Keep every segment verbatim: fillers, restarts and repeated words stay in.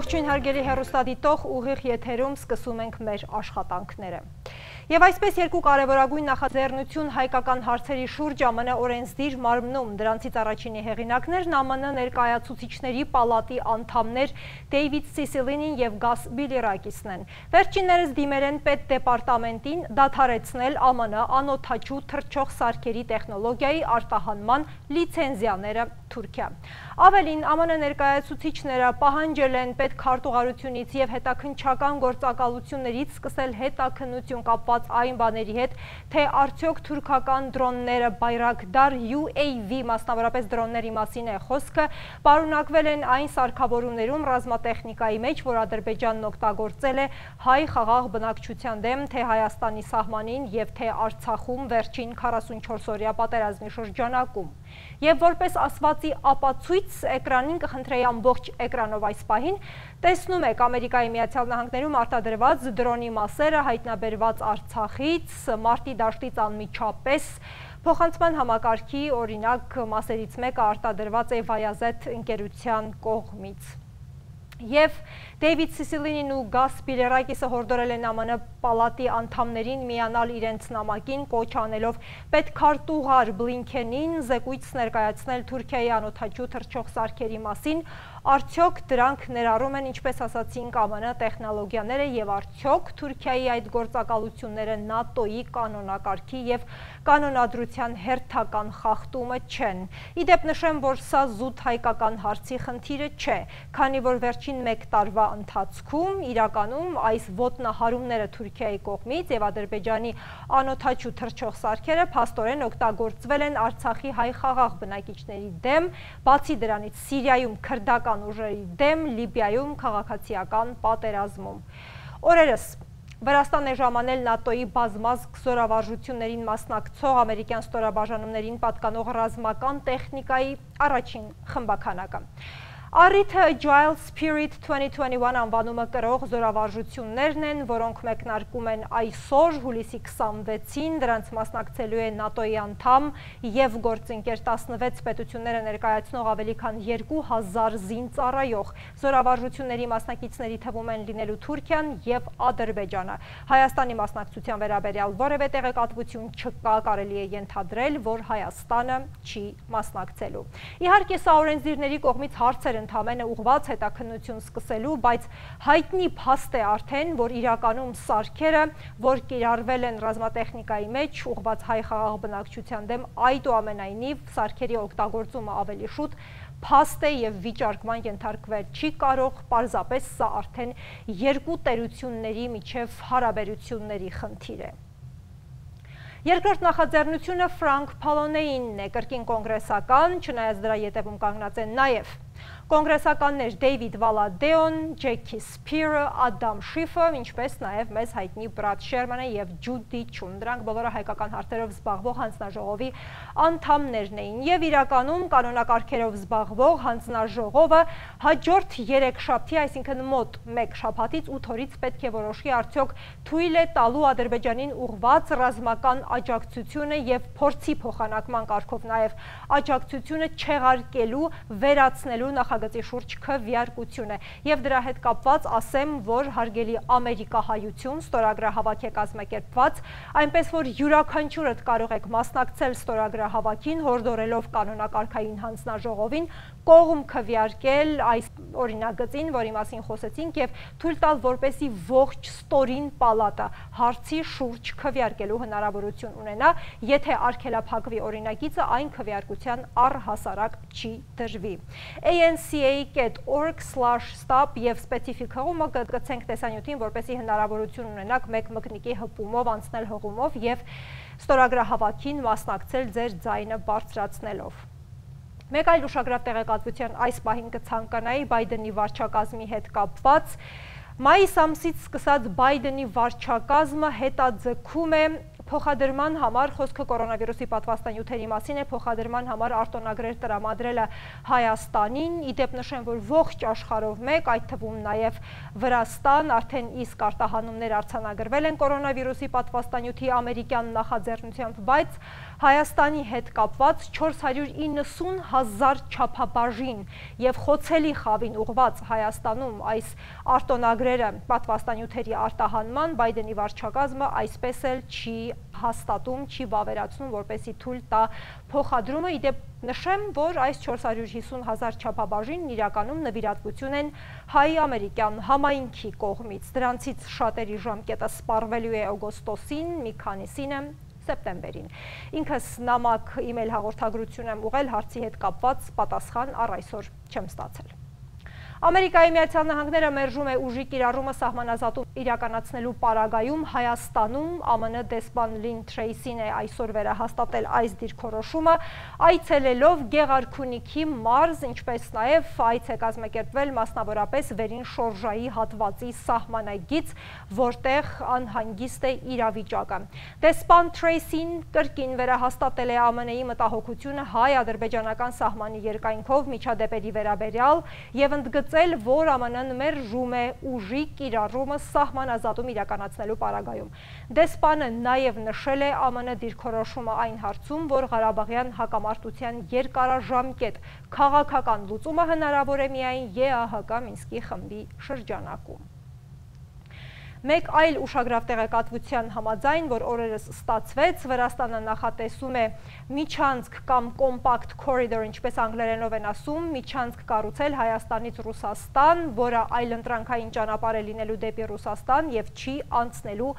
Ողջույն հարգելի հեռուստադիտող, ուղիղ եթերում սկսում ենք մեր աշխատանքները։ Եվ այսպես երկու կարևորագույն նախաձեռնություն հայկական հարցերի շուրջ ԱՄՆ օրենսդիր մարմնում, դրանցից առաջինի հեղինակներն ԱՄՆ ներկայացուցիչների պալատի անդամներ Դեյվիդ Սիսիլինին և Գաս Բիլիրակիսն են։ Վերջիններս դիմել են պետդեպարտամենտին դադարեցնել ԱՄՆ անօդաչու թռչող սարքերի տեխնոլոգիայի արտահանման լիցենզիաները Թուրքիա։ Ավելին, ԱՄՆ ներկայացուցիչները պահանջել են պետքարտուղարությունից և հետաքննչական գործակալություններից սկսել հետաքննություն կապված այն բաների հետ, թե արդյոք թուրքական դրոնները Բայրակդար յու էյ վի, մասնավորապես դրոնների մասին է խոսքը, պարունակվել են այն սարքավորումներում ռազմատեխնիկայի մեջ, որ Ադրբեջանն օգտագործել է հայ խաղաղ բնակչության դեմ, թե Հայաստանի սահմանին և թե Արցախում վերջին քառասունչորսօրյա պատերազմի շրջանակում։ Եվ որպես ասվածի ապացույց էկրանին կխնդրեի ամբողջ էկրանով այս պահին տեսնում եք Ամերիկայի Միացյալ Նահանգներում արտադրված դրոնի մասերը հայտնաբերված Արցախից, մարտի դաշտից անմիջապես փոխանցման համակարգի օրինակ մասերից մեկը արտադրված է Վայազեթ ընկերության կողմից։ Եվ Դեյվիդ Սիսիլինին ու Գաս Բիլիրակիսը հորդորել են ԱՄՆ պալատի անդամներին միանալ իրենց նամակին, կոչ անելով պետքարտուղար Բլինքենին զեկույց ներկայացնել Թուրքիայի անօդաչու թռչող սարքերի մասին, արդյոք դրանք ներառում են, ինչպես ասացինք, ԱՄՆ տեխնոլոգիաները և արդյոք Թուրքիայի այդ գործակալությունները ՆԱՏՕ-ի կանոնակարգի և կանոնադրության հերթական խախտումը չեն։ Իդեպ նշեմ, որ սա զուտ հայկական հարցի խնդիրը չէ, քանի որ վերջին մեկ տարվա ընթացքում իրականում այս ոտնահարումները Թուրքիայի կողմից և Ադրբեջանի անօդաչու թռչող սարքերը փաստորեն օգտագործվել են Արցախի հայ խաղաղ բնակիչների դեմ, բացի դրանից Սիրիայում քրդական ուժերի դեմ, Լիբիայում քաղաքացիական պատերազմում։ Օրերս Վրաստան է ժամանել ՆԱՏՕ-ի բազմազգ զորավարժություններին մասնակցող ամերիկյան ստորաբաժանումներին պատկանող ռազմական տեխնիկայի առաջին խմբաքանակը։ Առիթը Agile Spirit twenty twenty-one անվանումը կրող զորավարժություններն են, որոնք մեկնարկում են այսօր հուլիսի քսանվեցին, դրանց մասնակցելու է ՆԱՏՕ-ի անդամ և գործընկեր տասնվեց պետությունները ներկայացնող ավելի քան երկու հազար զինծառայող։ Զորավարժությունների մասնակիցների թվում են լինելու Թուրքիան և Ադրբեջանը։ Հայաստանի մասնակցության վերաբերյալ որևէ տեղեկատվություն չկա, կարելի է ենթադրել, որ Հայաստանը չի մասնակցելու։ Իհարկե, սա օրենսդիրների կողմից հարցեր ընդամենը ուղղված հետաքննություն սկսելու, բայց հայտնի փաստ է արդեն, որ իրականում սարքերը, որ կիրառվել են ռազմատեխնիկայի մեջ, ուղղված հայ խաղաղ բնակչության դեմ, այդուամենայնիվ սարքերի օգտագործումը ավելի շուտ փաստ է և վիճարկման ենթարկվել չի կարող, պարզապես սա արդեն երկու տերությունների միջև հարաբերությունների խնդիր է։ Երկրորդ նախաձեռնությունը Ֆրանկ Փալոնեինն է, կրկին կոնգրեսական, չնայած դրա ետևում կանգնած են նաև կոնգրեսականներ Դեյվիդ Վալադեոն, Ջեքի Սփիրը, Ադամ Շիֆը, ինչպես նաև մեզ հայտնի Բրադ Շերմանը և Ջուդի Չուն։ Դրանք բոլորը հայկական հարցերով զբաղվող հանձնաժողովի անդամներն էին և իրականում կանոնակարգերով զբաղվող հանձնաժողովը հաջորդ երեքշաբթի, այսինքն մոտ մեկ շաբաթից ութ օրից պետք է որոշի արդյոք թույլ է տալու Ադրբեջանին ուղղված ռազմական աջակցությունը և փորձի փոխանակման կարգով նաև աջակցությունը չեղարկելու, վերացնելու նախագծի շուրջ քվեարկություն է։ Եվ դրա հետ կապված ասեմ, որ հարգելի ամերիկահայություն ստորագրահավաք է կազմակերպված, այնպես որ յուրաքանչյուրդ կարող եք մասնակցել ստորագրահավաքին, հորդորելով կանոնակարգային հանձնաժողովին կողմ քվեարկել այս օրինագծին, որի մասին խոսեցինք, և թույլ տալ, որպեսզի ողջ ստորին պալատը հարցի շուրջ քվեարկելու հնարավորություն ունենա, եթե արգելափակվի օրինագիծը, այն քվեարկության առհասարակ չի դրվի։ A N C A dot org slash stop և սպեցիֆիկ հղումը կգցենք տեսանյութին, որպեսզի հնարավորություն ունենաք մեկ մկնիկի հպումով անցնել հղումով և ստորագրահավաքին մասնակցել ձեր ձայնը բարձրացնելով։ Մեկ այլ ուշագրավ տեղեկատվության այս պահին կցանկանայի Բայդենի վարչակազմի հետ կապված։ Մայիս ամսից սկսած Բայդենի վարչակազմը հետաձգում է փոխադրման համար, խոսքը կորոնավիրուսի պատվաստանյութերի մասին է, փոխադրման համար արտոնագրեր տրամադրելը Հայաստանին, իդեպ նշեմ, որ ողջ աշխարհով մեկ, այդ թվում նաև Վրաստան, արդեն իսկ արտահանումներ արձանագրվել են կորոնավիրուսի պատվաստանյութի ամերիկյան նախաձեռնությամբ, բայց Հայաստանի հետ կապված չորս հարյուր իննսուն հազար չափաբաժին և խոցելի խավին ուղված Հայաստանում այս արտոնագրերը պատվաստանյութերի արտահանման Բայդենի վարչակազմը այսպես էլ չի հաստատում, չի վավերացնում, որպեսզի թույլ տա փոխադրումը, իդեպ նշեմ, որ այս չորս հարյուր հիսուն հազար չափաբաժինն իրականում նվիրատվություն են հայ-ամերիկյան համայնքի կողմից, դրանցից շատերի ժամկետը սպառվելու է օգոստոսին, մի քանիսին է սեպտեմբերին։ Ինքս նամակ իմեյլ հաղորդագրություն եմ ուղղել հարցի հետ կապված, պատասխան առ այսօր չեմ ստացել։ Ամերիկայի Միացյալ Նահանգները մերժում է ուժի կիրառումը սահմանազատում իրականացնելու պարագայում Հայաստանում ԱՄՆ դեսպան Լին Թրեյսին է այսօր վերահաստատել այս դիրքորոշումը, այցելելով Գեղարքունիքի մարզ, ինչպես նաև այց է կազմակերպվել մասնավորապես Վերին շորժայի հատվածի սահմանագից, որտեղ անհանգիստ է իրավիճակը։ Դեսպան Թրեյսին կրկին վերահաստատել է ԱՄՆ-ի մտահոգությունը հայ-ադրբեջանական սահմանի երկայնքով միջադեպերի վերաբերյալ և ընդգծել որ ԱՄՆ-ն մերժում է ուժի կիրառումը սահմանազատում իրականացնելու պարագայում։ Դեսպանը նաև նշել է ԱՄՆ դիրքորոշումը այն հարցում, որ Ղարաբաղյան հակամարտության երկարաժամկետ քաղաքական լուծումը հնարավոր է միայն ԵԱՀԿ Մինսկի խմբի շրջանակում։ Մեկ այլ ուշագրավ տեղեկատվության համաձայն, որ օրերս ստացվեց, Վրաստանը նախատեսում է միջանցք կամ կոմպակտ կորիդոր, ինչպես անգլերենով են ասում, միջանցք կառուցել Հայաստանից Ռուսաստան, որը այլընտրանքային ճանապարհ է լինելու դեպի Ռուսաստան և չի անցնելու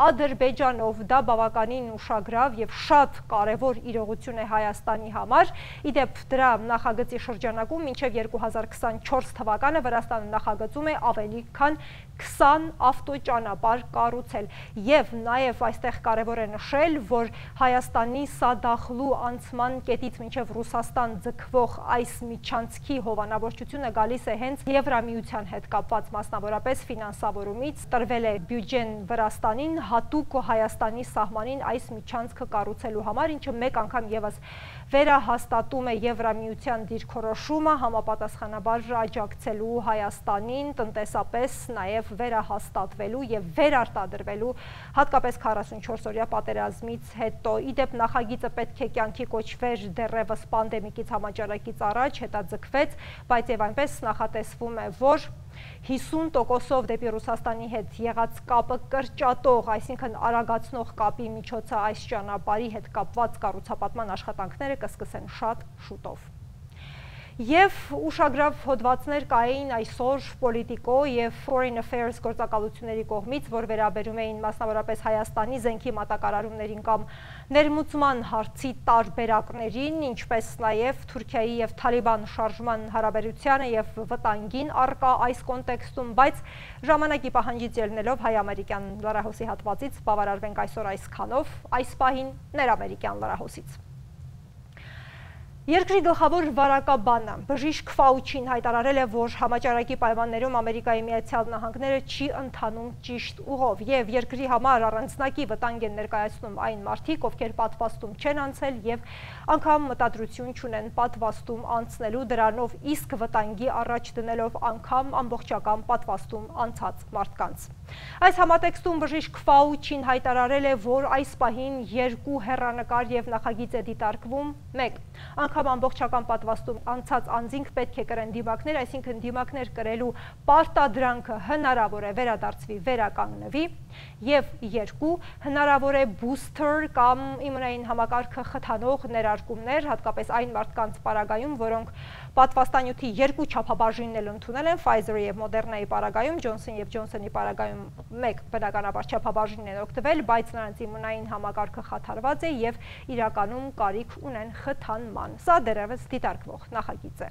Ադրբեջանով։ Դա բավականին ուշագրավ և շատ կարևոր իրողություն է Հայաստանի համար։ Իդեպ դրա նախագծի շրջանակում մինչև երկու հազար քսանչորս թվականը Վրաստանը նախագծում է ավելի քան քսան ավտոճանապարհ կառուցել և նաև այստեղ կարևոր է նշել, որ Հայաստանի Սադախլու անցման կետից մինչև Ռուսաստան ձգվող այս միջանցքի հովանավորչությունը գալիս է հենց Եվրամիության հետ կապված մասնավորապես ֆինանսավորումից, տրվել է բյուջեն Վրաստանին հատուկ Հայաստանի սահմանին այս միջանցքը կառուցելու համար, ինչը մեկ անգամ ևս վերահաստատում է Եվրամիության դիրքորոշումը համապատասխանաբար աջակցելու Հայաստանին տնտեսապես նաև վերահաստատվելու և վերարտադրվելու հատկապես քառասունչորս օրյա պատերազմից հետո։ Իդեպ նախագիծը պետք է կյանքի կոչվեր դեռևս պանդեմիկից համաճարակից առաջ, հետաձգվեց, բայց և այնպես նախատեսվում է, որ հիսուն տոկոսով դեպի Ռուսաստանի հետ եղած կապը կրճատող, այսինքն արագացնող կապի միջոցը այս ճանապարհի հետ կապված կառուցապատման աշխատանքները կսկսեն շատ շուտով։ Եվ ուշագրավ հոդվածներ կային այսօր Պոլիտիկո և Foreign Affairs գործակալությունների կողմից, որ վերաբերում էին մասնավորապես Հայաստանի զենքի մատակարարումներին կամ ներմուծման հարցի տարբերակներին, ինչպես նաև Թուրքիայի և Թալիբան շարժման հարաբերությանը և վտանգին առկա այս կոնտեքստում, բայց ժամանակի պահանջից ելնելով հայ-ամերիկյան լրահոսի հատվածից բավարարվենք այսօր այսքանով, այս պահին ներամերիկյան լրահոսից։ Երկրի գլխավոր վարակաբանը բժիշկ Ֆաուչին հայտարարել է, որ համաճարակի պայմաններում Ամերիկայի Միացյալ Նահանգները չի ընթանում ճիշտ ուղով և երկրի համար առանձնակի վտանգ են ներկայացնում այն մարդիկ, ովքեր պատվաստում չեն անցել և անգամ մտադրություն չունեն պատվաստում անցնելու, դրանով իսկ վտանգի առաջ դնելով անգամ ամբողջական պատվաստում անցած մարդկանց։ Այս համատեքստում բժիշկ Ֆաուչին հայտարարել է, որ այս պահին երկու հեռանկար և նախագիծ է դիտարկվում, մեկ անգամ ամբողջական պատվաստում անցած անձինք պետք է կրեն դիմակներ, այսինքն դիմակներ կրելու պարտադրանքը հնարավոր է վերադարձվի, վերականգնվի, և երկու հնարավոր է բուսթեր կամ իմունային համակարգը խթանող ներարկումներ, հատկապես այն մարդկանց պարագայում, որոնք պատվաստանյութի երկու չափաբաժինն էլ ընդունել են, Pfizer-ի և Moderna-ի պարագայում, Johnson և Johnson-ի պարագայում մեկ բնականաբար չափաբաժինն են օգտվել, բայց նրանց իմունային համակարգը խաթարված է և իրականում կարիք ունեն խթանման։ Սա դեռևս դիտարկվող նախագիծ է։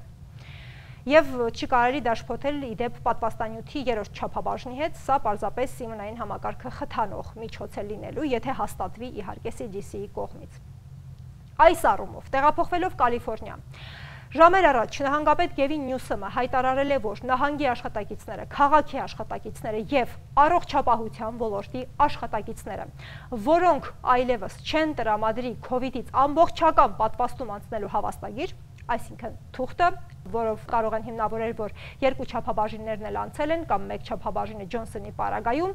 Եվ չի կարելի դաշփոթել իդեպ պատվաստանյութի երրորդ չափաբաժնի հետ, սա պարզապես իմունային համակարգը խթանող միջոց է լինելու, եթե հաստատվի իհարկե C D C-ի կողմից։ Այս առումով տեղափոխվելով Կալիֆոռնիա, Ժամեր առաջ նահանգապետ Գևին Նյուսոմը հայտարարել է, որ նահանգի աշխատակիցները, քաղաքի աշխատակիցները եւ առողջապահության ոլորտի աշխատակիցները, որոնք այլևս չեն տրամադրի քովիդից ամբողջական պատվաստում անցնելու հավաստագիր, այսինքն թուղթը, որով կարող են հիմնավորել, որ երկու չափաբաժիններն էլ անցել են կամ մեկ չափաբաժինը Ջոնսոնի պարագայում,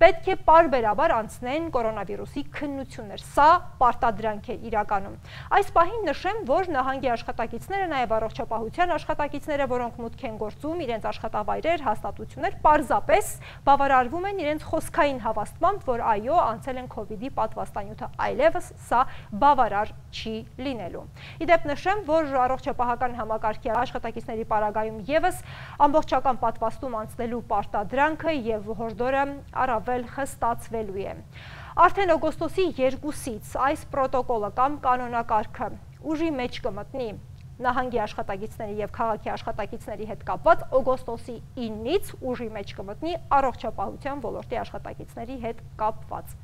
պետք է պարբերաբար անցնեն կորոնավիրուսի քննություններ։ Սա պարտադրանք է իրականում։ Այս պահին նշեմ, որ նահանգի աշխատակիցները, նաև առողջապահության աշխատակիցները, որոնք մուտք են գործում իրենց աշխատավայրեր, հաստատություններ, պարզապես բավարարվում են իրենց խոսքային հավաստմամբ, որ այո, անցել են քովիդի պատվաստանյութը, այլևս սա բավարար չի լինելու։ Իդեպ նշեմ, որ առողջապահական համակարգի աշխատակիցների պարագայում եւս ամբողջական պատվաստում անցնելու պարտադրանքը եւ հորդորը առավել խստացվելու է։ Արդեն օգոստոսի երկուսից այս պրոտոկոլը կամ կանոնակարգը ուժի մեջ կմտնի նահանգի աշխատակիցների եւ քաղաքի աշխատակիցների հետ կապված, օգոստոսի ինից ուժի մեջ կմտնի առողջապահության ոլորտի աշխատակիցների հետ կապված։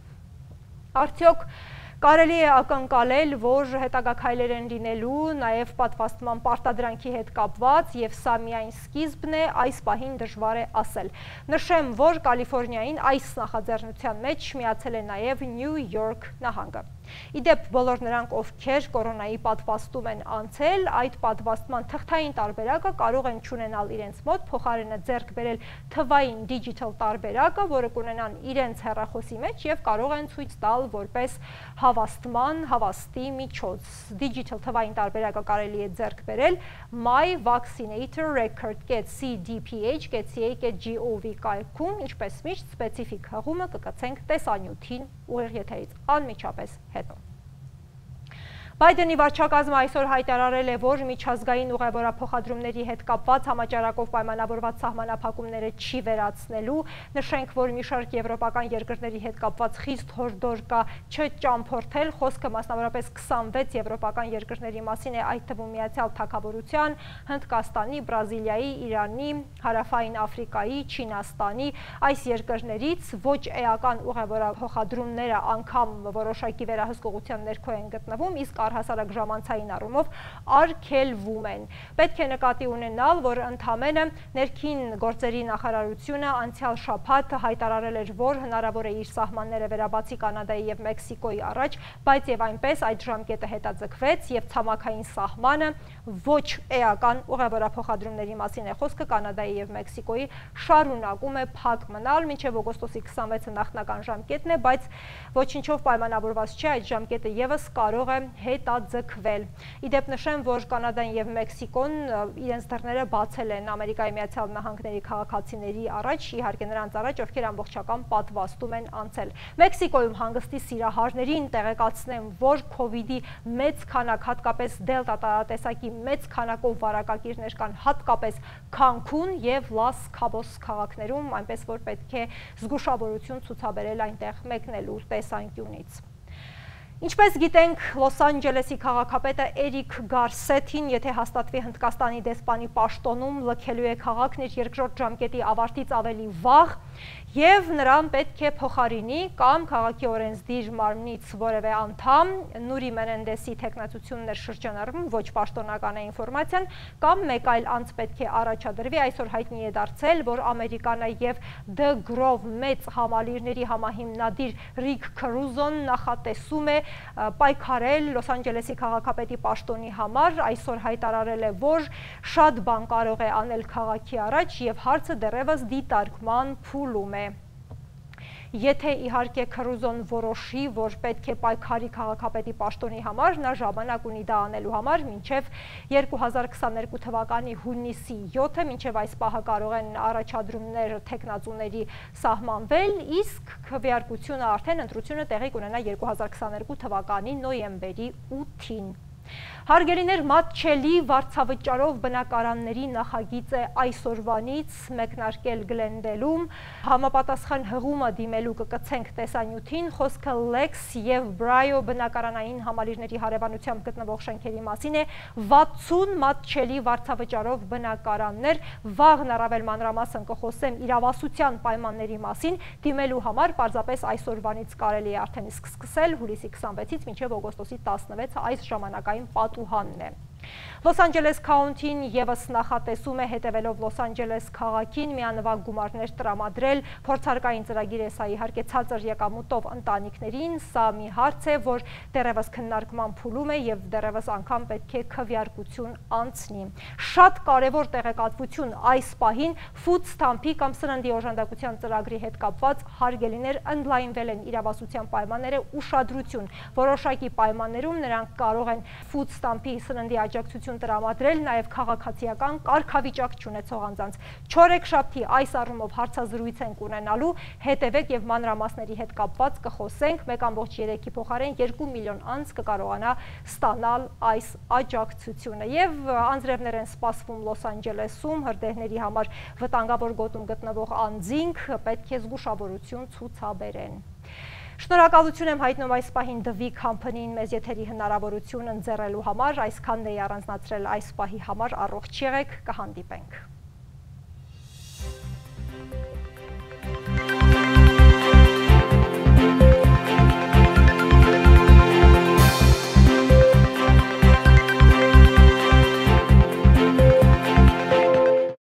Արդյոք կարելի է ակնկալել, որ հետագա քայլեր են լինելու նաև պատվաստման պարտադրանքի հետ կապված եւ սա միայն սկիզբն է, այս պահին դժվար է ասել։ Նշեմ, որ Կալիֆոռնիային այս նախաձեռնության մեջ միացել է նաև Նյու Յորք նահանգը։ Իդեպ բոլոր նրանք, ովքեր կորոնայի պատվաստում են անցել, այդ պատվաստման թղթային տարբերակը կարող են չունենալ իրենց մոտ, փոխարենը ձեռք բերել թվային digital տարբերակը, որը կունենան իրենց հեռախոսի մեջ եւ կարող են ցույց տալ որպես հավաստման, հավաստի միջոց։ Digital թվային տարբերակը կարելի է ձեռք բերել my vaccinator record dot c d p h dot c a dot gov կայքում, ինչպես միշտ սպეციფიկ հղումը կկցենք տեսանյութին ուղիղ եթերից անմիջապես հետո։ Բայդենի վարչակազմը այսօր հայտարարել է, որ միջազգային ուղևորափոխադրումների հետ կապված համաճարակով պայմանավորված սահմանափակումները չի վերացնելու։ Նշենք, որ մի շարք եվրոպական երկրների հետ կապված խիստ հորդոր կա չճամփորդել, խոսքը մասնավորապես քսանվեց եվրոպական երկրների մասին է, այդ թվում Միացյալ Թագավորության, Հնդկաստանի, Բրազիլիայի, Իրանի, Հարավային Աֆրիկայի, Չինաստանի, այս երկրներից ոչ էական ուղևորափոխադրումները անգամ որոշակի վերահսկողության ներքո են գտնվում, իսկ առհասարակ ժամանցային առումով արգելվում են։ Պետք է նկատի ունենալ, որ ընդամենը ներքին գործերի նախարարությունը անցյալ շաբաթ հայտարարել էր, որ հնարավոր է իր սահմանները վերաբացի Կանադայի եւ Մեքսիկոյի առաջ, բայց եւ այնպես այդ ժամկետը հետաձգվեց եւ ցամաքային սահմանը ոչ էական ուղևորափոխադրումների մասին է խոսքը Կանադայի եւ Մեքսիկոյի շարունակում է փակ մնալ մինչեւ օգոստոսի քսանվեցը նախնական ժամկետն է, բայց ոչինչով պայմանավորված չէ, այդ ժամկետը եւս կարող է հետաձգվել։ Իդեպ նշեմ, որ Կանադան եւ Մեքսիկոն իրենց դռները բացել են Ամերիկայի Միացյալ Նահանգների քաղաքացիների առաջ, իհարկե նրանց առաջ, ովքեր ամբողջական պատվաստում են անցել։ Մեքսիկոյում հանգստի սիրահարներին տեղեկացնեմ, որ քովիդի մեծ քանակ, հատկապես դելտա տարատեսակի մեծ քանակով վարակակիրներ կան հատկապես Քանքուն եւ Լաս Քաբոս քաղաքներում, այնպես որ պետք է զգուշավորություն ցուցաբերել այնտեղ մեկնելու տեսանկյունից։ Ինչպես գիտենք, Լոս Անջելեսի քաղաքապետը Էրիկ Գարսեթին, եթե հաստատվի Հնդկաստանի դեսպանի պաշտոնում, լքելու է քաղաքն իր երկրորդ ժամկետի ավարտից ավելի վաղ եւ նրան պետք է փոխարինի կամ քաղաքի օրենսդիր մարմնից որևէ անդամ, Նուրի Մենենդեսի թեկնածությունն էր շրջանառվում, ոչ պաշտոնական է ինֆորմացիան, կամ մեկ այլ անձ պետք է առաջադրվի, այսօր հայտնի է դարձել, որ Ամերիկանա եւ The Grove մեծ համալիրների համահիմնադիր Ռիկ Քրուզոն նախատեսում է պայքարել Լոս Անջելեսի քաղաքապետի պաշտոնի համար, այսօր հայտարարել է, որ շատ բան կարող է անել քաղաքի առաջ եւ հարցը դեռևս դիտարկման փուլում է։ Եթե իհարկե Քրուզոն որոշի, որ պետք է պայքարի քաղաքապետի պաշտոնի համար, նա ժամանակ ունի դա անելու համար մինչև երկու հազար քսաներկու թվականի հունիսի յոթը, մինչև այս պահը կարող են առաջադրումներ թեկնածուների սահմանվել, իսկ քվեարկությունը արդեն ընտրությունը տեղի կունենա երկու հազար քսաներկու թվականի նոյեմբերի ութին։ Հարգելիներ, մատչելի վարձավճարով բնակարանների նախագիծ է այսօրվանից մեկնարկել Գլենդելում, համապատասխան հղումը դիմելու կկցենք տեսանյութին, խոսքը Lex եւ Brio բնակարանային համալիրների հարևանությամբ գտնվող շենքերի մասին է, վաթսուն մատչելի վարձավճարով բնակարաններ, վաղն առավել մանրամասն կխոսեմ իրավասության պայմանների մասին, դիմելու համար պարզապես այսօրվանից կարելի է արդեն իսկ սկսել, հուլիսի քսանվեցից մինչև օգոստոսի տասնվեցը այս ժամանակային պատուհանն է։ Լոս Անջելես քաունթին ևս նախատեսում է հետևելով Լոս Անջելես քաղաքին միանվագ գումարներ տրամադրել փորձարկային ծրագիր է սա իհարկե ցածր եկամուտով ընտանիքներին, սա մի հարց է, որ դեռևս քննարկման փուլում է եւ դեռևս անգամ պետք է քվեարկություն անցնի։ Շատ կարևոր տեղեկատվություն այս պահին Food Stamp-ի կամ սննդի օժանդակության ծրագրի հետ կապված հարգելիներ ընդլայնվել են իրավասության պայմանները ուշադրություն։ Որոշակի պայմաններում նրանք կարող են Food Stamp-ի սննդի աջակցություն տրամադրել նաև քաղաքացիական կարգավիճակ չունեցող անձանց։ Չորեքշաբթի այս առումով հարցազրույց ենք ունենալու, հետևեք եւ մանրամասների հետ կապված կխոսենք, մեկ ամբողջ երեքի փոխարեն երկու միլիոն անձ կկարողանա ստանալ այս աջակցությունը։ Եվ անձրևներ են սպասվում Լոս Անջելեսում, հրդեհների համար վտանգավոր գոտում գտնվող անձինք պետք է զգուշավորություն ցուցաբերեն։ Շնորհակալություն եմ հայտնում այս պահին The Company-ին մեզ եթերի հնարավորություն ընձեռելու համար, այսքանն էի առանձնացրել այս պահի համար, առողջ եղեք, կհանդիպենք։